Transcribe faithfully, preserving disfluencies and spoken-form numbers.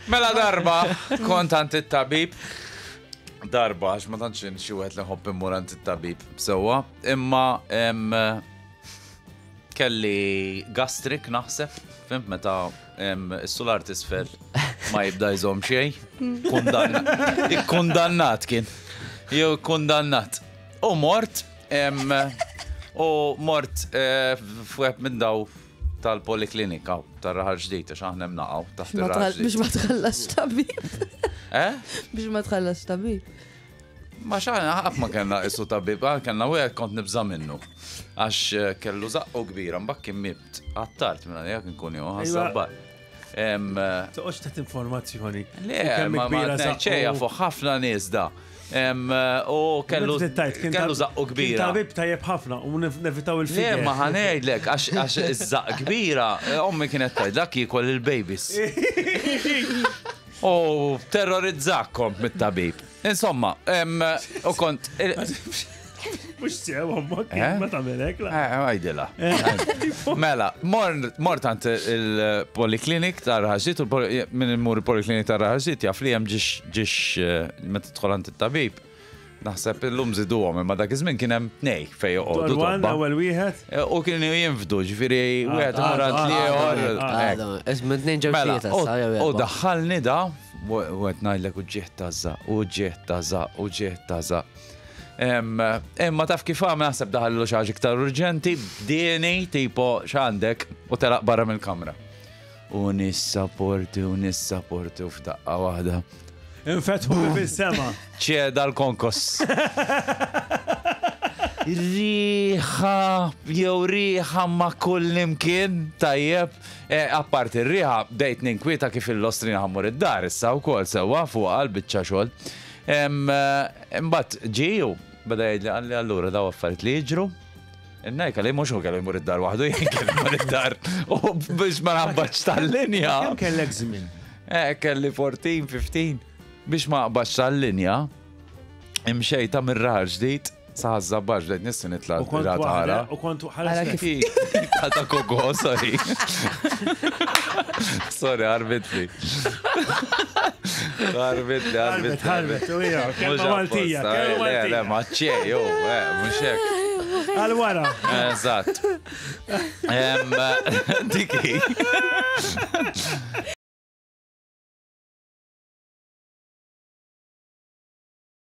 Mela darba, kont għand it-tabib. Darba, għax ma tantx xi wieħed li nħobb immur għand it-tabib. Sewwa, imma em, kelli gastric naħseb, fhimt, meta em, is-sular t'isfel ma jibda jżomm xejn. Kundanna. Ikkundannat kien. Jew kundannat. U mort, em, u mort eh, f'wieħed minn daw tal-poliklinika tar-Raħal Ġdid, għax aħna naqgħu taħt Ma ir-Raħal tħall- Biex Ġdid. ma tħallas tabib. Eh? Biex ma tħallas tabib. Ma xaħna, ħaf ma kellna isu tabib, ah, kellna u kont nibża minnu. Għax eh, kellu zaqqu kbira, mbagħad kien mibt għattart minna li jak nkun jew ħassabbar. Em, eh, Toqgħodx ta' informazzjoni. Le, ma ma ċeja fuq ħafna nies da. Em, eh, U kellu kellu zaqqu kbira. Tabib tajjeb ħafna u nef- nevitaw Le, il-figure. ma ħa ngħidlek, għax għax iż-żaq kbira, eh, ommi kienet tgħid dak jiekol il-babies. U terrorizzak kont mit-tabib. Insomma, em, u kont. Mux sew, ommok, Eh? ma tagħmelek, la. Eh, għajdila. Mela, mor- mort għand il-poliklinik ta' Raħal Ġdid, u l-poli- minn il-mur il-poliklinik ta' Raħal Ġdid jaf li hemm ġiex ġiex eh, meta tidħol għand it-tabib. Naħseb illum żiduhom, imma dak iż-żmien kien hemm tnej fejn joqogħdu Dwar one, tobba. ewwel wieħed. Eh, U kienu jinfdu, ġifieri wieħed ah, imur għand ah, l-ieħor. ah, hekk. Ismu tnejn ġew Mela, tlieta u- sa jew u erba'. daħħalni da, u qed ngħidlek uġigħ ta' żaqq, uġigħ ta' żaqq, uġigħ ta' żaqq. Em, Imma taf kif għamel, naħseb daħallu xi ħaġa iktar urġenti, bdieni tipo x'għandek u telaq barra mill-kamra. U nissaporti u nissaporti u f'daqqa waħda. Infetħu fis-sema. ċeda l-konkos. Riħa, jew riħa ma kull imkien, tajjeb. E, apparti r-riħa, bdejt ninkwieta kif il-lostrina ħa mmur id-dar, issa u kol sewa fuq għal-bicċa xogħol. Em, eh, Imbagħad ġiju, beda jgħidli qalli allura daw affarijiet li jiġru. Innajka li mhux hu kellu jmur id-dar waħdu, jien kellu jmur id-dar. U biex ma naqbadx tal-linja. Kemm kellek żmien? Eh, kelli erbatax, ħmistax. Biex ma naqbadx tal-linja, imxejta mir-Raħal Ġdid, sa Ħaż-Żabbar bdejt nissi nitla' U kont tara. waħda, u kont Ara ħares kif- Ta' koko, sorry. Sorry, ħarbitli. Ħarbitli, Ħarbet, ħarbitli. ħarbet, u hija, kelma Maltija, kelma Le, le, Maltija. ma ċe, jo, eh, mhux hekk. Għal wara. Eżatt. Em, Diki.